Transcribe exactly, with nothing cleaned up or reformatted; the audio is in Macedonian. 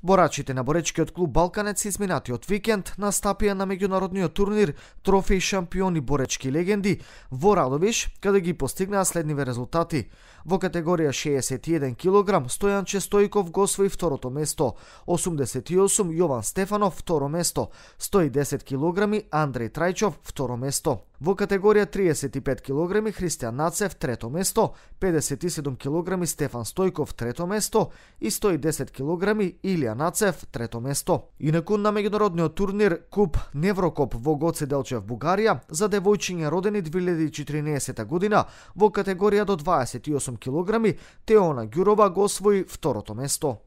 Борачите на боречкиот клуб Балканец изминатиот викенд настапија на меѓународниот турнир Трофеј шампиони боречки легенди во Радовиш, каде ги постигнаа следниве резултати. Во категорија шеесет и еден килограм Стојанче Стојков го освои второто место, осумдесет и осум Јован Стефанов второ место, сто и десет килограми Андреј Трајчов второ место. Во категорија триесет и пет килограми Христијан Нацев трето место, педесет и седум килограми Стефан Стојков трето место и сто и десет килограми Илија Нацев трето место. Инаку на меѓународниот турнир Куп Неврокоп во Гоце Делчев, Бугарија, за девојчиња родени две илјади и четиринаесета година во категорија до дваесет и осум килограми Теона Ѓурова го освои второто место.